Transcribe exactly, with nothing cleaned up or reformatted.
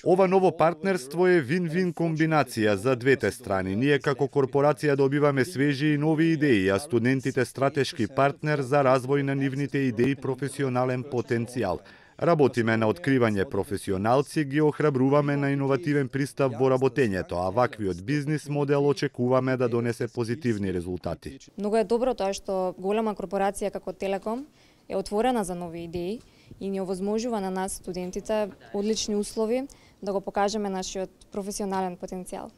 Ова ново партнерство е вин-вин комбинација за двете страни. Ние како корпорација добиваме свежи и нови идеи, а студентите стратешки партнер за развој на нивните идеи и професионален потенцијал. Работиме на откривање професионалци, ги охрабруваме на иновативен пристап во работењето, а ваквиот бизнис модел очекуваме да донесе позитивни резултати. Многу е добро тоа што голема корпорација како Телеком е отворена за нови идеи и ни овозможува на нас студентите одлични услови да го покажеме нашиот професионален потенцијал.